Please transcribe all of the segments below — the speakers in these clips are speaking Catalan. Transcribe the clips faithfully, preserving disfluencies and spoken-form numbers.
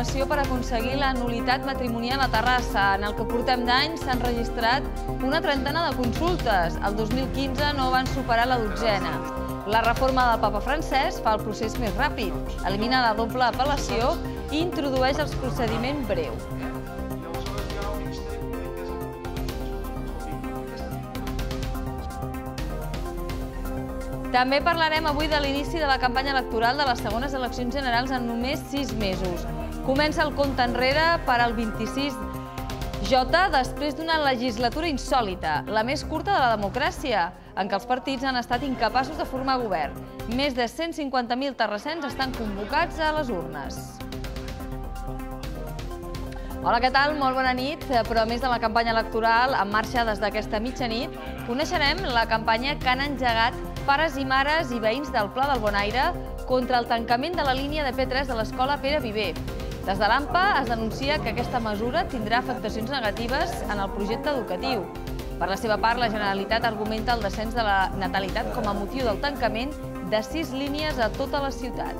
informació per aconseguir la nul·litat matrimonial a Terrassa. En el que portem d'any s'han registrat una trentena de consultes. El dos mil quinze no van superar la dotzena. La reforma del papa francès fa el procés més ràpid, elimina la doble apel·lació i introdueix el procediment breu. També parlarem avui de l'inici de la campanya electoral de les segones eleccions generals en només sis mesos. Comença el compte enrere per al vint-i-sis J després d'una legislatura insòlita, la més curta de la democràcia, en què els partits han estat incapaços de formar govern. Més de cent cinquanta mil terrassens estan convocats a les urnes. Hola, què tal? Molt bona nit. Però a més de la campanya electoral, en marxa des d'aquesta mitjanit, coneixerem la campanya que han engegat pares i mares i veïns del Pla del Bonaire contra el tancament de la línia de P tres de l'escola Pere Viver. Des de l'AMPA es denuncia que aquesta mesura tindrà afectacions negatives en el projecte educatiu. Per la seva part, la Generalitat argumenta el descens de la natalitat com a motiu del tancament de sis línies a tota la ciutat.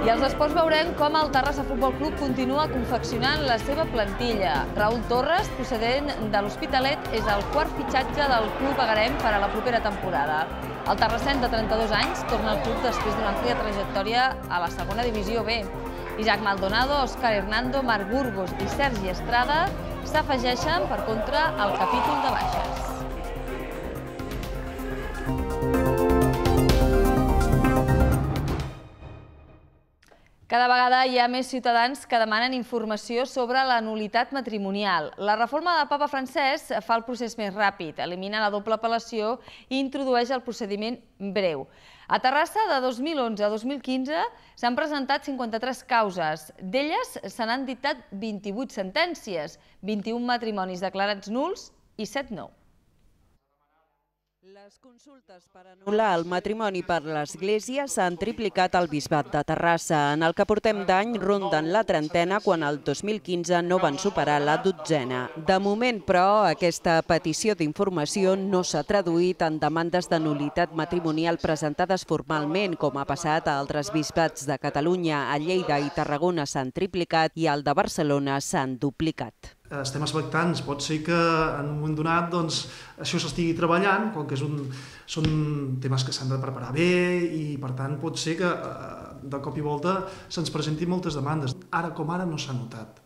I als esports veurem com el Terrassa Futbol Club continua confeccionant la seva plantilla. Raúl Torres, procedent de l'Hospitalet, és el quart fitxatge del club agarem per a la propera temporada. El terrassenc de trenta-dos anys torna al club després d'una àmplia trajectòria a la segona divisió B. Isaac Maldonado, Òscar Hernando, Marc Burgos i Sergi Estrada s'afegeixen, per contra, al capítol de baixes. Cada vegada hi ha més ciutadans que demanen informació sobre la nul·litat matrimonial. La reforma del papa francès fa el procés més ràpid, elimina la doble apel·lació i introdueix el procediment breu. A Terrassa, de dos mil onze a dos mil quinze, s'han presentat cinquanta-tres causes. D'elles se n'han dictat vint-i-vuit sentències, vint-i-un matrimonis declarats nuls i set no. Les consultes per anul·lar el matrimoni per l'Església s'han triplicat al Bisbat de Terrassa. En el que portem d'any ronden la trentena quan el dos mil quinze no van superar la dotzena. De moment, però, aquesta petició d'informació no s'ha traduït en demandes de nul·litat matrimonial presentades formalment, com ha passat a altres bisbats de Catalunya. A Lleida i Tarragona s'han triplicat i al de Barcelona s'han duplicat. Estem expectants, pot ser que en un moment donat això s'estigui treballant, com que són temes que s'han de preparar bé i per tant pot ser que de cop i volta se'ns presentin moltes demandes. Ara com ara no s'ha notat.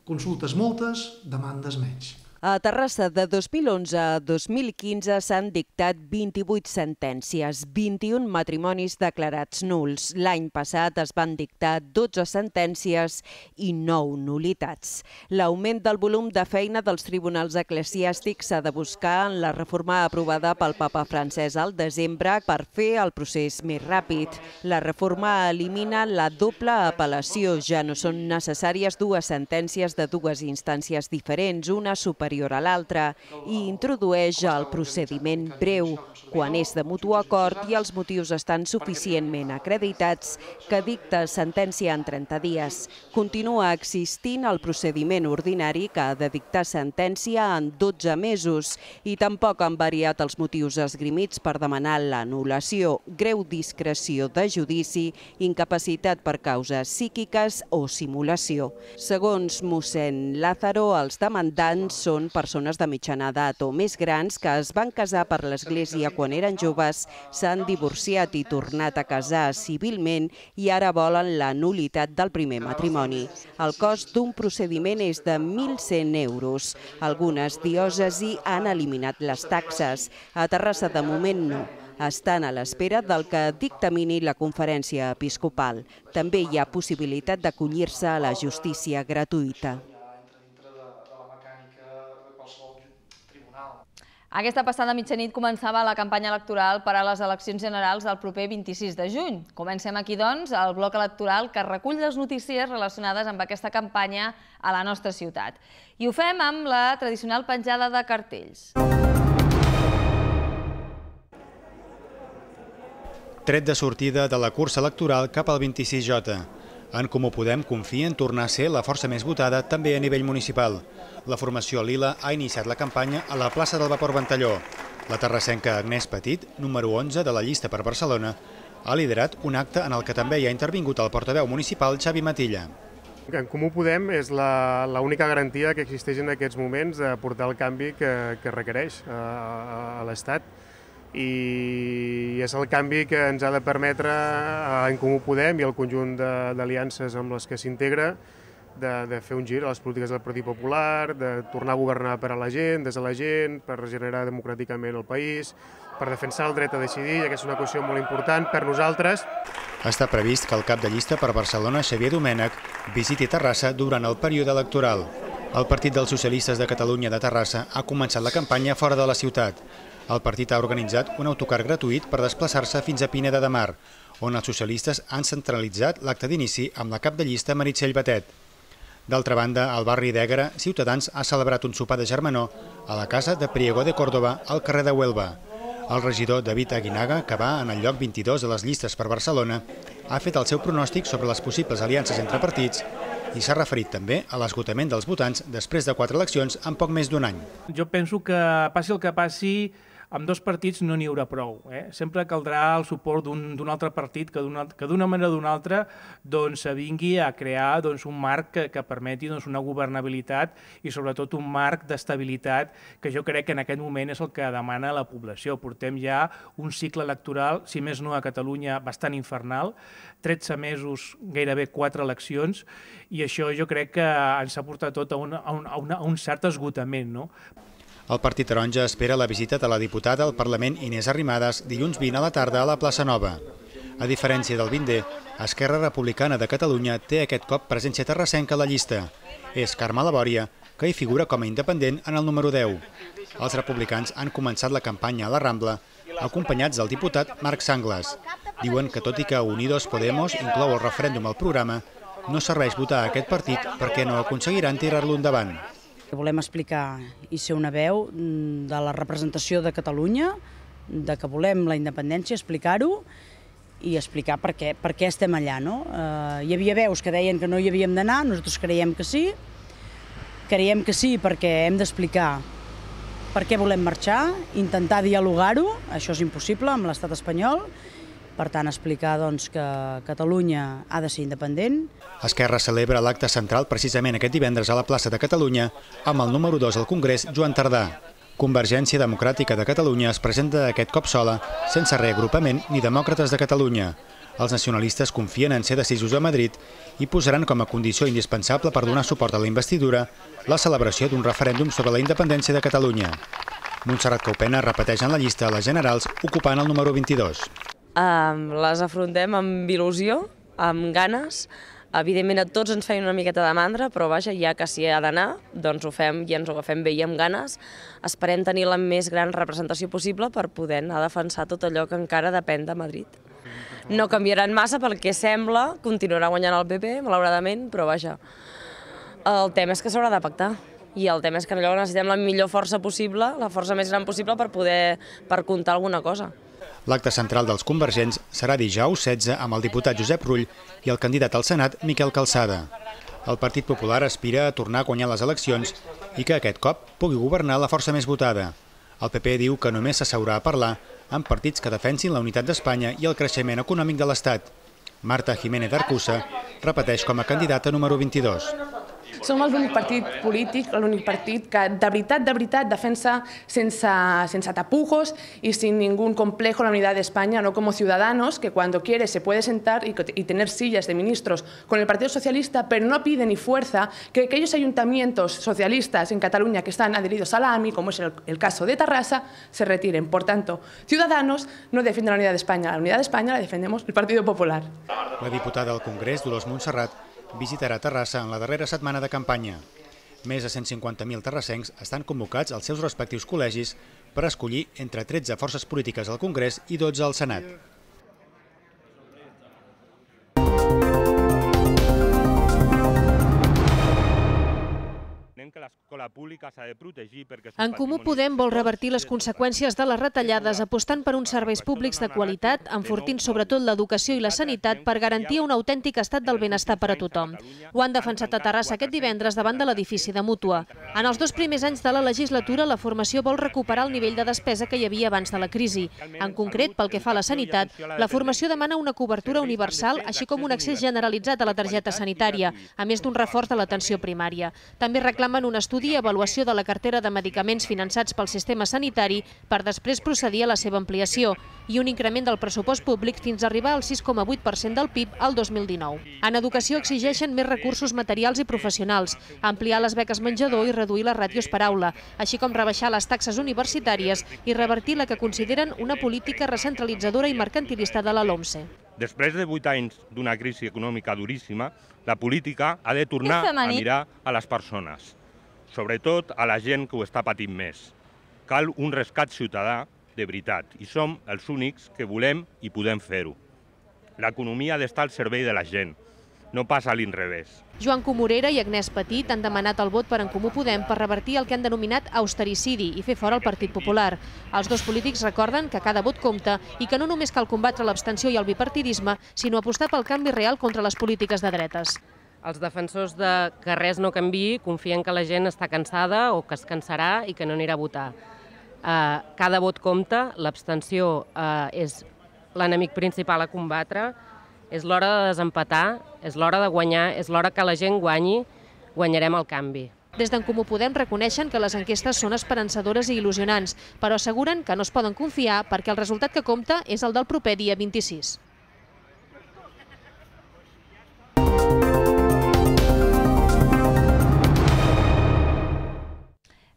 Consultes moltes, demandes menys. A Terrassa, de dos mil onze a dos mil quinze s'han dictat vint-i-vuit sentències, vint-i-un matrimonis declarats nuls. L'any passat es van dictar dotze sentències i nou nul·litats. L'augment del volum de feina dels tribunals eclesiàstics s'ha de buscar en la reforma aprovada pel papa francès al desembre per fer el procés més ràpid. La reforma elimina la doble apel·lació. Ja no són necessàries dues sentències de dues instàncies diferents, una superior a l'altra, i introdueix el procediment breu, quan és de mutu acord i els motius estan suficientment acreditats, que dicta sentència en trenta dies. Continua existint el procediment ordinari que ha de dictar sentència en dotze mesos i tampoc han variat els motius esgrimits per demanar l'anul·lació, greu discreció de judici, incapacitat per causes psíquiques o simulació. Segons mossèn Lázaro, els demandants són persones de mitjana edat o més grans que es van casar per l'Església quan eren joves, s'han divorciat i tornat a casar civilment i ara volen la nul·litat del primer matrimoni. El cost d'un procediment és de mil cent euros. Algunes diòcesis han eliminat les taxes. A Terrassa, de moment, no. Estan a l'espera del que dictamini la conferència episcopal. També hi ha possibilitat d'acollir-se a la justícia gratuïta. Aquesta passada mitjanit començava la campanya electoral per a les eleccions generals del proper vint-i-sis de juny. Comencem aquí, doncs, el bloc electoral que recull les notícies relacionades amb aquesta campanya a la nostra ciutat. I ho fem amb la tradicional penjada de cartells. Tret de sortida de la cursa electoral cap al vint-i-sis J. En Comú Podem confia en tornar a ser la força més votada també a nivell municipal. La formació Lila ha iniciat la campanya a la plaça del Vapor Ventalló. La terrassenca Agnès Petit, número onze de la llista per Barcelona, ha liderat un acte en el que també hi ha intervingut el portaveu municipal Xavi Matilla. En Comú Podem és l'única garantia que existeix en aquests moments de portar el canvi que, que requereix a, a l'Estat. I és el canvi que ens ha de permetre en Comú Podem i el conjunt d'aliances amb les que s'integra de, de fer un gir a les polítiques del Partit Popular, de tornar a governar per a la gent, des de la gent, per regenerar democràticament el país, per defensar el dret a decidir, i aquesta és una qüestió molt important per nosaltres. Està previst que el cap de llista per Barcelona, Xavier Domènech, visiti Terrassa durant el període electoral. El Partit dels Socialistes de Catalunya de Terrassa ha començat la campanya fora de la ciutat. El partit ha organitzat un autocar gratuït per desplaçar-se fins a Pineda de Mar, on els socialistes han centralitzat l'acte d'inici amb la cap de llista Meritxell Batet. D'altra banda, al barri d'Ègara, Ciutadans ha celebrat un sopar de germanor a la casa de Priego de Córdoba, al carrer de Huelva. El regidor David Aguinaga, que va en el lloc vint-i-dos de les llistes per Barcelona, ha fet el seu pronòstic sobre les possibles aliances entre partits i s'ha referit també a l'esgotament dels votants després de quatre eleccions en poc més d'un any. Jo penso que passi el que passi, amb dos partits no n'hi haurà prou. Eh? Sempre caldrà el suport d'un altre partit que d'una manera o d'una altra doncs, vingui a crear doncs, un marc que, que permeti doncs, una governabilitat i sobretot un marc d'estabilitat que jo crec que en aquest moment és el que demana la població. Portem ja un cicle electoral, si més no a Catalunya, bastant infernal, tretze mesos, gairebé quatre eleccions, i això jo crec que ens ha portat tot a un, a un, a un, a un cert esgotament. No? El Partit Taronja espera la visita de la diputada al Parlament Inés Arrimadas dilluns vint a la tarda a la plaça Nova. A diferència del vint D, Esquerra Republicana de Catalunya té aquest cop presència terrassenca a la llista. És Carme Labòria, que hi figura com a independent en el número deu. Els republicans han començat la campanya a la Rambla, acompanyats del diputat Marc Sanglas. Diuen que tot i que Unidos Podemos inclou el referèndum al programa, no serveix votar a aquest partit perquè no aconseguiran tirar-lo endavant. Volem explicar i ser una veu de la representació de Catalunya, de que volem la independència, explicar-ho i explicar per què, per què estem allà. No? Eh, hi havia veus que deien que no hi havíem d'anar, nosaltres creiem que sí, creiem que sí perquè hem d'explicar per què volem marxar, intentar dialogar-ho, això és impossible amb l'estat espanyol, per tant, explicar doncs, que Catalunya ha de ser independent. Esquerra celebra l'acte central precisament aquest divendres a la plaça de Catalunya amb el número dos al Congrés, Joan Tardà. Convergència Democràtica de Catalunya es presenta aquest cop sola, sense reagrupament ni Demòcrates de Catalunya. Els nacionalistes confien en ser decisos a Madrid i posaran com a condició indispensable per donar suport a la investidura la celebració d'un referèndum sobre la independència de Catalunya. Montserrat Caupena repeteix en la llista a les generals, ocupant el número vint-i-dos. Um, les afrontem amb il·lusió, amb ganes. Evidentment a tots ens feien una miqueta de mandra, però vaja, ja que s'hi ha d'anar, doncs ho fem i ens ho agafem bé i amb ganes. Esperem tenir la més gran representació possible per poder anar a defensar tot allò que encara depèn de Madrid. No canviaran massa pel que sembla, continuarà guanyant el P P, malauradament, però vaja, el tema és que s'haurà de pactar. I el tema és que allò necessitem la millor força possible, la força més gran possible per poder per comptar alguna cosa. L'acte central dels convergents serà dijous setze amb el diputat Josep Rull i el candidat al Senat, Miquel Calçada. El Partit Popular aspira a tornar a guanyar les eleccions i que aquest cop pugui governar la força més votada. El P P diu que només s'asseurà a parlar amb partits que defensin la unitat d'Espanya i el creixement econòmic de l'Estat. Marta Jiménez Arcusa repeteix com a candidata número vint-i-dos. Som l'únic partit polític, l'únic partit que de veritat, de veritat defensa sense, sense tapujos y sin ningún complejo la unidad de España, no como Ciudadanos, que cuando quiere se puede sentar y, y tener sillas de ministros con el Partido Socialista, pero no pide ni fuerza que aquellos ayuntamientos socialistas en Cataluña que están adheridos a la A M I, como es el, el caso de Terrassa, se retiren. Por tanto, Ciudadanos no defiende la unidad de España, la unidad de España la defendemos el Partido Popular. La diputada al Congrés, Dolors Montserrat, visitarà Terrassa en la darrera setmana de campanya. Més de cent cinquanta mil terrassencs estan convocats als seus respectius col·legis per escollir entre tretze forces polítiques al Congrés i dotze al Senat. Que les l'escola pública s'ha de protegir perquè... En Comú Podem vol revertir les conseqüències de les retallades apostant per uns serveis públics de qualitat, enfortint sobretot l'educació i la sanitat per garantir un autèntic estat del benestar per a tothom. Ho han defensat a Terrassa aquest divendres davant de l'edifici de Mútua. En els dos primers anys de la legislatura, la formació vol recuperar el nivell de despesa que hi havia abans de la crisi. En concret, pel que fa a la sanitat, la formació demana una cobertura universal, així com un accés generalitzat a la targeta sanitària, a més d'un reforç de l'atenció primària. També reclamen un estudi i avaluació de la cartera de medicaments finançats pel sistema sanitari per després procedir a la seva ampliació i un increment del pressupost públic fins a arribar al sis coma vuit per cent del P I B al dos mil dinou. En educació exigeixen més recursos materials i professionals, ampliar les beques menjador i reduir les ràtios per aula, així com rebaixar les taxes universitàries i revertir la que consideren una política recentralitzadora i mercantilista de la LOMSE. Després de vuit anys d'una crisi econòmica duríssima, la política ha de tornar a mirar a les persones, sobretot a la gent que ho està patint més. Cal un rescat ciutadà de veritat i som els únics que volem i podem fer-ho. L'economia ha d'estar al servei de la gent, no pas a l'inrevés. Joan Comorera i Agnès Petit han demanat el vot per En Comú Podem per revertir el que han denominat austericidi i fer fora el Partit Popular. Els dos polítics recorden que cada vot compta i que no només cal combatre l'abstenció i el bipartidisme, sinó apostar pel canvi real contra les polítiques de dretes. Els defensors de que res no canviï confien que la gent està cansada o que es cansarà i que no anirà a votar. Cada vot compta, l'abstenció és l'enemic principal a combatre, és l'hora de desempatar, és l'hora de guanyar, és l'hora que la gent guanyi, guanyarem el canvi. Des d'En Comú Podem reconeixen que les enquestes són esperançadores i il·lusionants, però asseguren que no es poden confiar perquè el resultat que compta és el del proper dia vint-i-sis.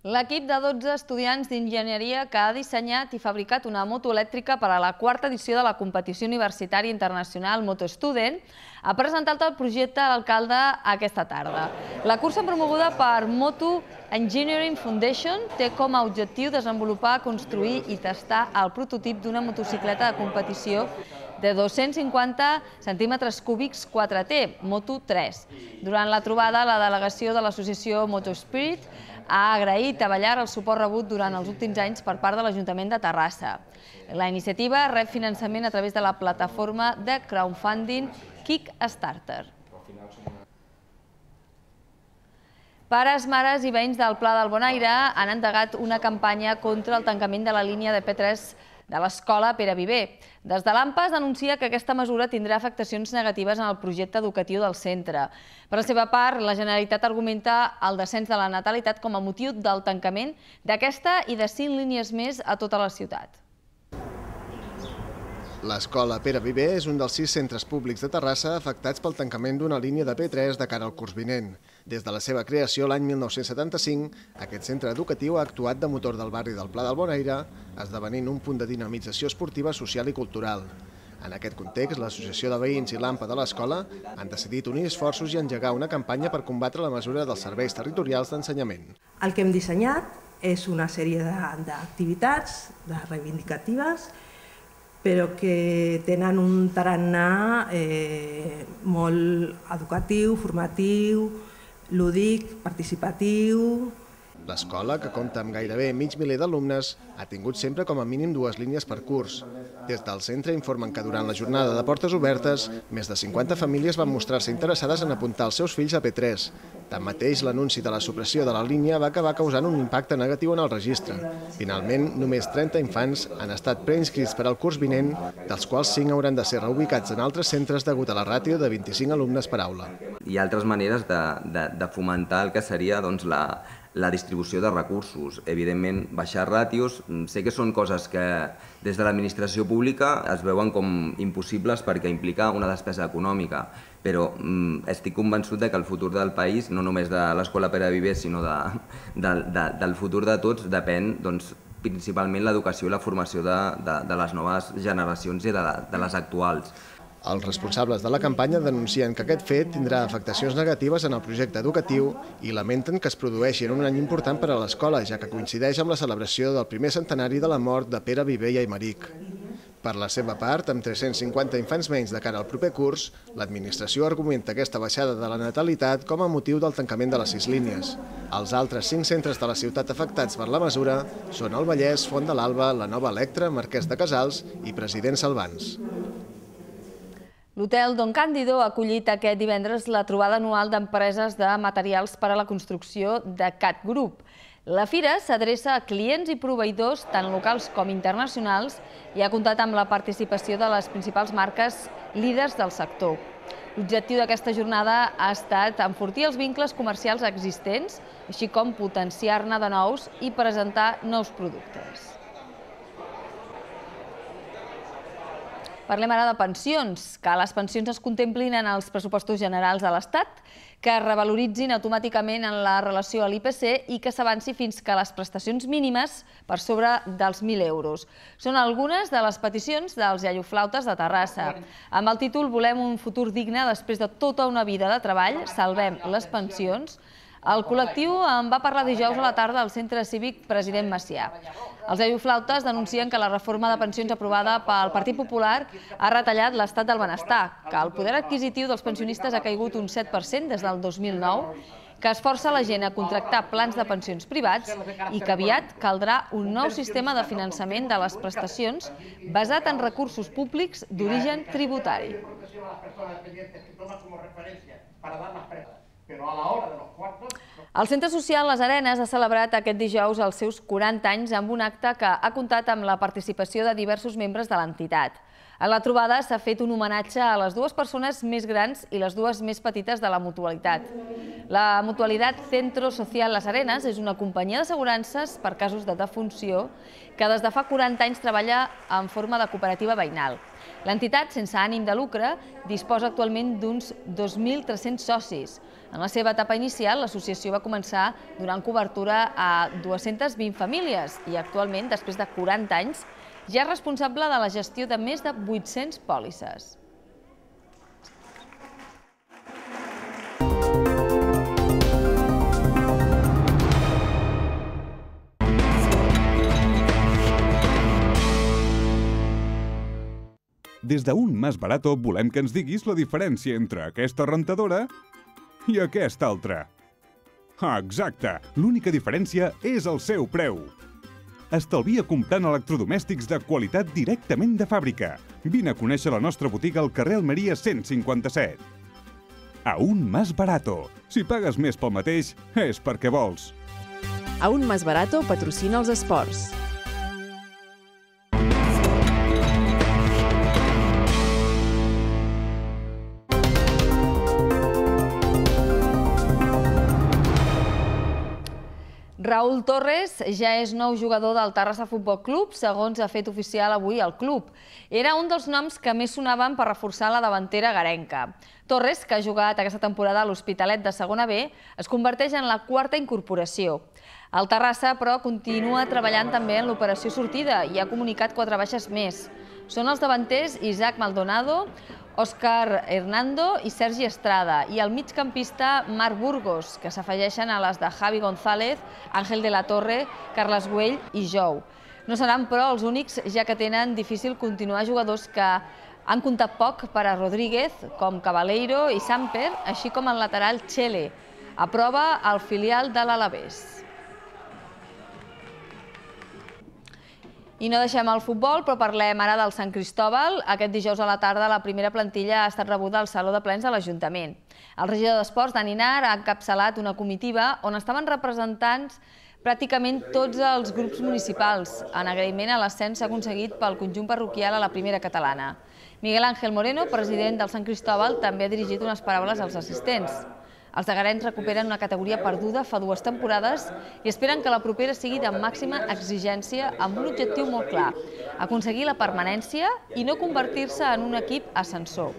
L'equip de dotze estudiants d'enginyeria que ha dissenyat i fabricat una moto elèctrica per a la quarta edició de la competició universitària internacional Moto Student ha presentat el projecte a l'alcalde aquesta tarda. La cursa promoguda per Moto Engineering Foundation té com a objectiu desenvolupar, construir i tastar el prototip d'una motocicleta de competició de dos-cents cinquanta centímetres cúbics quatre T, Moto tres. Durant la trobada, la delegació de l'associació Motospirit ha agraït a Ballar el suport rebut durant els últims anys per part de l'Ajuntament de Terrassa. La iniciativa rep finançament a través de la plataforma de crowdfunding Kickstarter. Pares, mares i veïns del Pla del Bonaire han endegat una campanya contra el tancament de la línia de P tres de l'escola Pere Viver. Des de l'AMPA es denuncia que aquesta mesura tindrà afectacions negatives en el projecte educatiu del centre. Per la seva part, la Generalitat argumenta el descens de la natalitat com a motiu del tancament d'aquesta i de cinc línies més a tota la ciutat. L'escola Pere Viver és un dels sis centres públics de Terrassa afectats pel tancament d'una línia de P tres de cara al curs vinent. Des de la seva creació l'any mil nou-cents setanta-cinc, aquest centre educatiu ha actuat de motor del barri del Pla del Bonaire, esdevenint un punt de dinamització esportiva, social i cultural. En aquest context, l'Associació de Veïns i l'AMPA de l'escola han decidit unir esforços i engegar una campanya per combatre la mesura dels serveis territorials d'ensenyament. El que hem dissenyat és una sèrie d'activitats reivindicatives, però que tenen un tarannà molt educatiu, formatiu, lúdic, participatiu. L'escola, que compta amb gairebé mig miler d'alumnes, ha tingut sempre com a mínim dues línies per curs. Des del centre informen que durant la jornada de portes obertes, més de cinquanta famílies van mostrar-se interessades en apuntar els seus fills a P tres. Tanmateix, l'anunci de la supressió de la línia va acabar causant un impacte negatiu en el registre. Finalment, només trenta infants han estat preinscrits per al curs vinent, dels quals cinc hauran de ser reubicats en altres centres degut a la ràtio de vint-i-cinc alumnes per aula. Hi ha altres maneres de, de, de fomentar el que seria doncs, la, la distribució de recursos. Evidentment, baixar ràtios, sé que són coses que des de l'administració pública es veuen com impossibles perquè implica una despesa econòmica, però mm, estic convençut de que el futur del país, no només de l'escola Pere Viver, sinó de, de, de, del futur de tots, depèn doncs, principalment l'educació i la formació de, de, de les noves generacions i de, de les actuals. Els responsables de la campanya denuncien que aquest fet tindrà afectacions negatives en el projecte educatiu i lamenten que es produeixi en un any important per a l'escola, ja que coincideix amb la celebració del primer centenari de la mort de Pere Viver i Aymeric. Per la seva part, amb tres-cents cinquanta infants menys de cara al proper curs, l'administració argumenta aquesta baixada de la natalitat com a motiu del tancament de les sis línies. Els altres cinc centres de la ciutat afectats per la mesura són el Vallès, Font de l'Alba, la Nova Electra, Marquès de Casals i President Salvans. L'hotel Don Cándido ha acollit aquest divendres la trobada anual d'empreses de materials per a la construcció de Cat Group. La fira s'adreça a clients i proveïdors tant locals com internacionals i ha comptat amb la participació de les principals marques líders del sector. L'objectiu d'aquesta jornada ha estat enfortir els vincles comercials existents, així com potenciar-ne de nous i presentar nous productes. Parlem ara de pensions, que les pensions es contemplin en els pressupostos generals de l'Estat, que es revaloritzin automàticament en la relació a l'I P C i que s'avanci fins que les prestacions mínimes per sobre dels mil euros. Són algunes de les peticions dels iaioflautes de Terrassa. Amb el títol Volem un futur digne després de tota una vida de treball, salvem les pensions, el col·lectiu en va parlar dijous a la tarda al Centre Cívic President Macià. Els iaioflautes denuncien que la reforma de pensions aprovada pel Partit Popular ha retallat l'estat del benestar, que el poder adquisitiu dels pensionistes ha caigut un set per cent des del dos mil nou, que es força la gent a contractar plans de pensions privats i que aviat caldrà un nou sistema de finançament de les prestacions basat en recursos públics d'origen tributari. El Centre Social Les Arenes ha celebrat aquest dijous els seus quaranta anys amb un acte que ha comptat amb la participació de diversos membres de l'entitat. A la trobada s'ha fet un homenatge a les dues persones més grans i les dues més petites de la mutualitat. La mutualitat Centro Social Les Arenes és una companyia d'assegurances per casos de defunció que des de fa quaranta anys treballa en forma de cooperativa veïnal. L'entitat, sense ànim de lucre, disposa actualment d'uns dos mil tres-cents socis. En la seva etapa inicial, l'associació va començar donant cobertura a dues-centes vint famílies i actualment, després de quaranta anys, ja és responsable de la gestió de més de vuit-centes pòlisses. Des d'Un Más Barato volem que ens diguis la diferència entre aquesta rentadora i aquesta altra. Ah, exacte! L'única diferència és el seu preu. Estalvia comprant electrodomèstics de qualitat directament de fàbrica. Vine a conèixer la nostra botiga al carrer Almeria cent cinquanta-set. Aún Más Barato. Si pagues més pel mateix, és perquè vols. Aún Más Barato patrocina els esports. Raúl Torres ja és nou jugador del Terrassa Futbol Club, segons ha fet oficial avui el club. Era un dels noms que més sonaven per reforçar la davantera garenca. Torres, que ha jugat aquesta temporada a l'Hospitalet de segona B, es converteix en la quarta incorporació. El Terrassa, però, continua treballant també en l'operació sortida i ha comunicat quatre baixes més. Són els davanters Isaac Maldonado, Òscar Hernando i Sergi Estrada, i el migcampista Marc Burgos, que s'afegeixen a les de Javi González, Àngel de la Torre, Carles Güell i Jou. No seran, però, els únics, ja que tenen difícil continuar jugadors que han comptat poc per a Rodríguez, com Cabaleiro i Samper, així com el lateral Chele. Aprova el filial de l'Alavés. I no deixem el futbol, però parlem ara del Sant Cristóbal. Aquest dijous a la tarda la primera plantilla ha estat rebuda al Saló de Plens de l'Ajuntament. El regidor d'Esports, Dani Nar, ha encapçalat una comitiva on estaven representants pràcticament tots els grups municipals, en agraïment a l'ascens aconseguit pel conjunt parroquial a la primera catalana. Miguel Ángel Moreno, president del Sant Cristóbal, també ha dirigit unes paraules als assistents. Els agarens recuperen una categoria perduda fa dues temporades i esperen que la propera sigui de màxima exigència amb un objectiu molt clar, aconseguir la permanència i no convertir-se en un equip ascensor.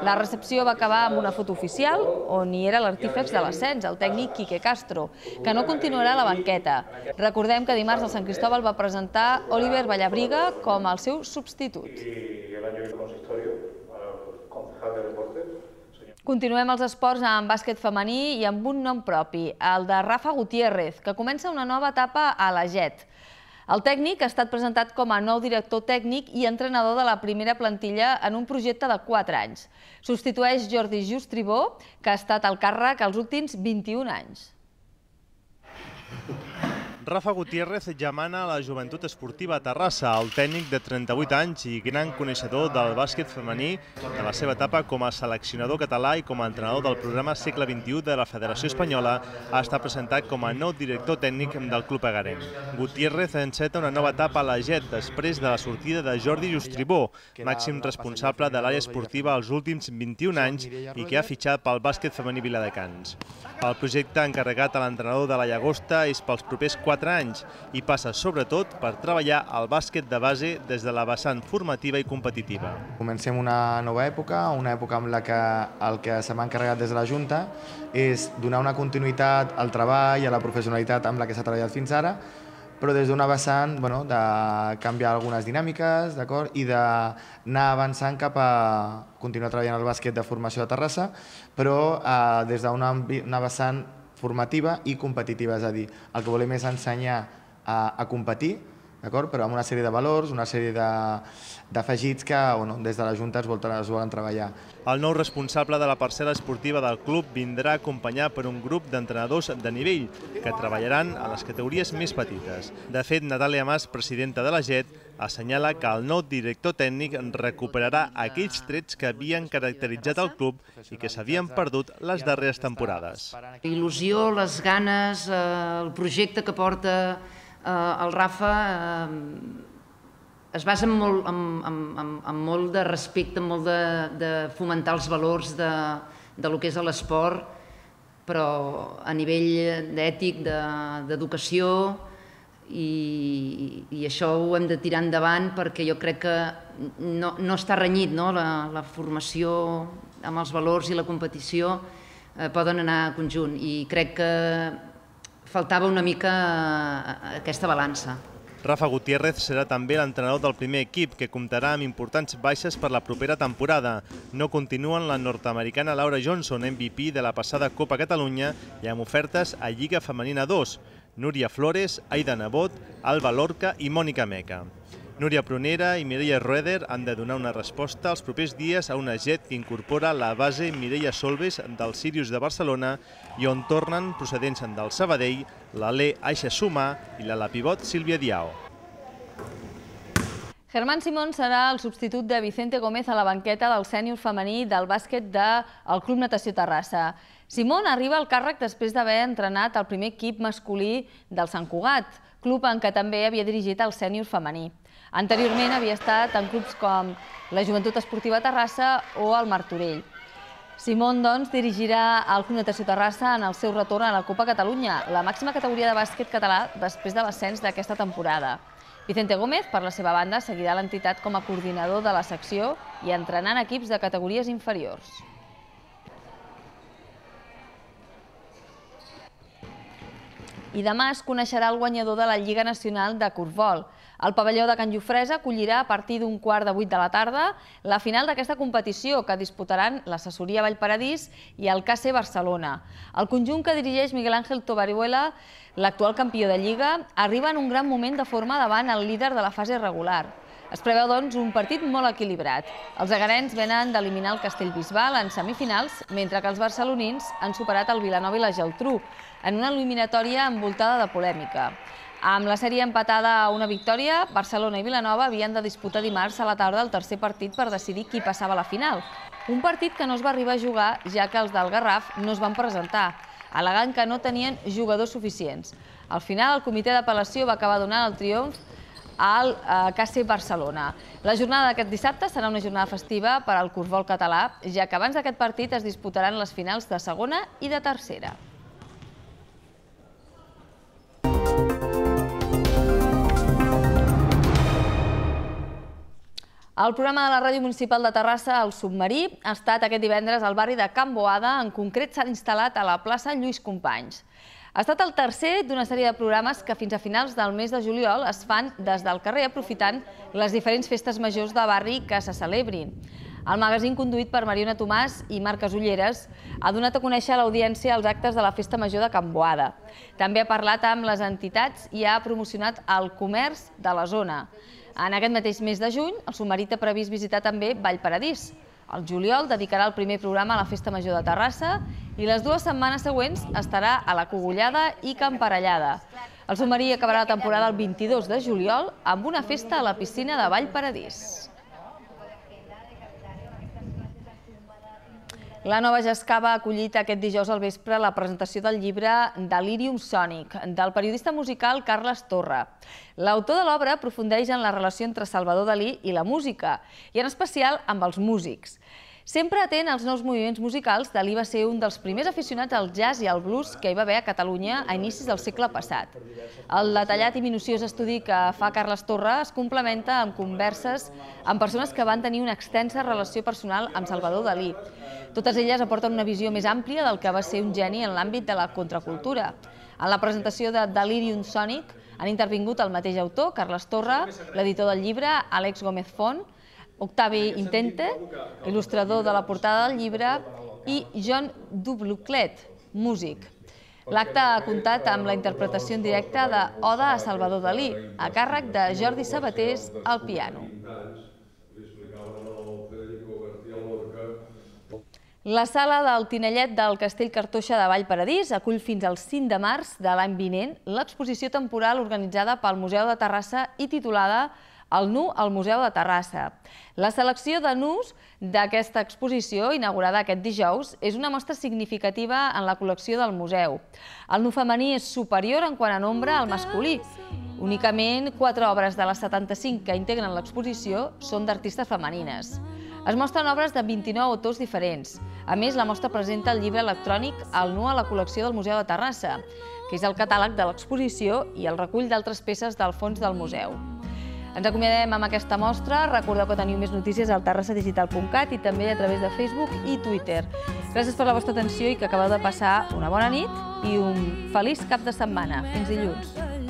La recepció va acabar amb una foto oficial on hi era l'artífex de l'ascens, el tècnic Quique Castro, que no continuarà a la banqueta. Recordem que dimarts el Sant Cristóbal va presentar Oliver Vallabriga com el seu substitut. Continuem els esports amb bàsquet femení i amb un nom propi, el de Rafa Gutiérrez, que comença una nova etapa a la Jet. El tècnic ha estat presentat com a nou director tècnic i entrenador de la primera plantilla en un projecte de quatre anys. Substitueix Jordi Justribó, que ha estat al càrrec els últims vint-i-un anys. Rafa Gutiérrez ja mana a la Joventut Esportiva Terrassa, el tècnic de trenta-vuit anys i gran coneixedor del bàsquet femení de la seva etapa com a seleccionador català i com a entrenador del programa Segle vint-i-u de la Federació Espanyola, ha estat presentat com a nou director tècnic del club egarenc. Gutiérrez enceta una nova etapa a la G E T després de la sortida de Jordi Justribó, màxim responsable de l'àrea esportiva els últims vint-i-un anys i que ha fitxat pel bàsquet femení viladecans. El projecte encarregat a l'entrenador de la Llagosta és pels propers quatre anys i passa sobretot per treballar el bàsquet de base des de la vessant formativa i competitiva. Comencem una nova època, una època amb la que el que se m'ha encarregat des de la Junta és donar una continuïtat al treball i a la professionalitat amb la que s'ha treballat fins ara, però des d'una vessant de canviar algunes dinàmiques i d'anar avançant cap a continuar treballant el bàsquet de formació de Terrassa, però des d'una vessant formativa i competitiva, és a dir, el que volem és ensenyar a competir, però amb una sèrie de valors, una sèrie d'afegits que des de la Junta es volen treballar. El nou responsable de la parcel·la esportiva del club vindrà acompanyat per un grup d'entrenadors de nivell que treballaran a les categories més petites. De fet, Natàlia Mas, presidenta de la G E T, assenyala que el nou director tècnic recuperarà aquells trets que havien caracteritzat el club i que s'havien perdut les darreres temporades. Il·lusió, les ganes, el projecte que porta el Rafa es basa en molt de respecte, en molt de fomentar els valors del que és l'esport, però a nivell ètic, d'educació, i això ho hem de tirar endavant perquè jo crec que no està renyit, la formació amb els valors i la competició poden anar a conjunt i crec que faltava una mica aquesta balança. Rafa Gutiérrez serà també l'entrenador del primer equip, que comptarà amb importants baixes per la propera temporada. No continuen la nord-americana Laura Johnson, M V P de la passada Copa Catalunya, i amb ofertes a Lliga Femenina dos, Núria Flores, Aida Nebot, Alba Lorca i Mònica Meca. Núria Prunera i Mireia Roeder han de donar una resposta els propers dies a una G E T que incorpora la base Mireia Solves del Sirius de Barcelona i on tornen procedents del Sabadell l'Alé Aixa Sumà i la pivot Sílvia Diao. Germán Simón serà el substitut de Vicente Gómez a la banqueta del sènior femení del bàsquet del Club Natació Terrassa. Simón arriba al càrrec després d'haver entrenat el primer equip masculí del Sant Cugat, club en què també havia dirigit el sènior femení. Anteriorment havia estat en clubs com la Joventut Esportiva Terrassa o el Martorell. Simón, doncs, dirigirà el Club Natació Terrassa en el seu retorn a la Copa Catalunya, la màxima categoria de bàsquet català després de l'ascens d'aquesta temporada. Vicente Gómez, per la seva banda, seguirà l'entitat com a coordinador de la secció i entrenant equips de categories inferiors. I demà es coneixerà el guanyador de la Lliga Nacional de Corfbol. El pavelló de Can Jofresa acollirà a partir d'un quart de vuit de la tarda la final d'aquesta competició que disputaran l'assessoria Vallparadís i el K C Barcelona. El conjunt que dirigeix Miguel Ángel Tobariuela, l'actual campió de Lliga, arriba en un gran moment de forma davant el líder de la fase regular. Es preveu, doncs, un partit molt equilibrat. Els egarens venen d'eliminar el Castellbisbal en semifinals, mentre que els barcelonins han superat el Vilanova i la Geltrú, en una eliminatòria envoltada de polèmica. Amb la sèrie empatada a una victòria, Barcelona i Vilanova havien de disputar dimarts a la tarda el tercer partit per decidir qui passava a la final. Un partit que no es va arribar a jugar, ja que els del Garraf no es van presentar, al·legant que no tenien jugadors suficients. Al final, el comitè d'apel·lació va acabar donant el triomf al K C Barcelona. La jornada d'aquest dissabte serà una jornada festiva per al corfbol català, ja que abans d'aquest partit es disputaran les finals de segona i de tercera. El programa de la Ràdio Municipal de Terrassa, El Submarí, ha estat aquest divendres al barri de Can Boada, en concret s'ha instal·lat a la plaça Lluís Companys. Ha estat el tercer d'una sèrie de programes que fins a finals del mes de juliol es fan des del carrer aprofitant les diferents festes majors de barri que se celebrin. El magazín, conduït per Mariona Tomàs i Marc Casulleres, ha donat a conèixer a l'audiència els actes de la Festa Major de Can Boada. També ha parlat amb les entitats i ha promocionat el comerç de la zona. En aquest mateix mes de juny, el submarí té previst visitar també Vallparadís. El juliol dedicarà el primer programa a la Festa Major de Terrassa i les dues setmanes següents estarà a la Cogullada i Camparellada. El submarí acabarà la temporada el vint-i-dos de juliol amb una festa a la piscina de Vallparadís. La Nova Jascava ha acollit aquest dijous al vespre la presentació del llibre Delirium Sònic, del periodista musical Carles Torra. L'autor de l'obra aprofundeix en la relació entre Salvador Dalí i la música, i en especial amb els músics. Sempre atent als nous moviments musicals, Dalí va ser un dels primers aficionats al jazz i al blues que hi va haver a Catalunya a inicis del segle passat. El detallat i minuciós estudi que fa Carles Torra es complementa amb converses amb persones que van tenir una extensa relació personal amb Salvador Dalí. Totes elles aporten una visió més àmplia del que va ser un geni en l'àmbit de la contracultura. En la presentació de Delirium Sònic han intervingut el mateix autor, Carles Torra, l'editor del llibre, Àlex Gómez Font, Octavi Intente, il·lustrador de la portada del llibre, i John Dubluclet, músic. L'acte ha comptat amb la interpretació en directe d'Oda a Salvador Dalí, a càrrec de Jordi Sabatés al piano. La sala del Tinellet del Castell Cartoixa de Vallparadís acull fins al cinc de març de l'any vinent l'exposició temporal organitzada pel Museu de Terrassa i titulada El nu al Museu de Terrassa. La selecció de nus d'aquesta exposició, inaugurada aquest dijous, és una mostra significativa en la col·lecció del museu. El nu femení és superior en quant a nombre al masculí. Únicament quatre obres de les setanta-cinc que integren l'exposició són d'artistes femenines. Es mostren obres de vint-i-nou autors diferents. A més, la mostra presenta el llibre electrònic El nu a la col·lecció del Museu de Terrassa, que és el catàleg de l'exposició i el recull d'altres peces del fons del museu. Ens acomiadem amb aquesta mostra. Recordeu que teniu més notícies al terrassa digital punt cat i també a través de Facebook i Twitter. Gràcies per la vostra atenció i que acabeu de passar una bona nit i un feliç cap de setmana. Fins dilluns. Veure